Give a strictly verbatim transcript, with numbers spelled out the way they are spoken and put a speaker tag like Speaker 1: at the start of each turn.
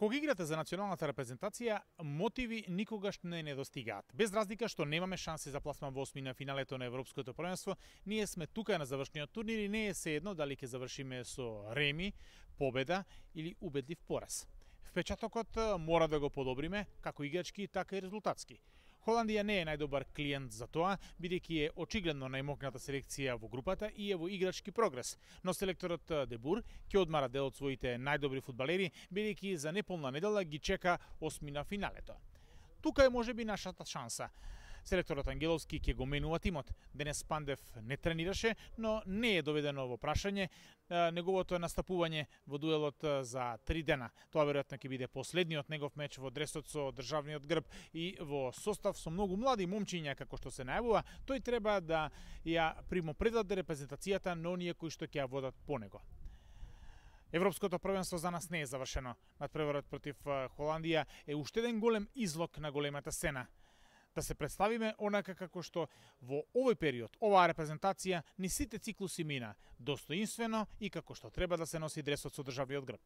Speaker 1: Кога играте за националната репрезентација, мотиви никогаш не недостигаат. Без разлика што немаме шанси за пласман во осмина финалето на Европското првенство, ние сме тука на завршниот турнир и не е сеедно дали ќе завршиме со реми, победа или убедлив пораз. Впечатокот мора да го подобриме, како играчки, така и резултатски. Холандија не е најдобар клиент за тоа, бидејќи е очигледно најмокната селекција во групата и е во играчки прогрес. Но селекторот Де Бур ќе одмара дел од своите најдобри фудбалери, бидејќи за неполна недела ги чека осмина финалето. Тука е можеби нашата шанса. Селекторот Ангеловски ќе го менува тимот. Денес Пандев не тренираше, но не е доведено во прашање неговото настапување во дуелот за три дена. Тоа веројатно ќе биде последниот негов меч во дресот со државниот грб и во состав со многу млади момчиња, како што се најавува, тој треба да ја примопредаде репрезентацијата на оние кои што ќе ја водат по него. Европското првенство за нас не е завршено. Надпреварот против Холандија е уште еден голем излог на големата сцена. Да се представиме онака како што во овој период, оваа репрезентација ни сите циклуси мина, достоинствено и како што треба да се носи дресот со државниот грб.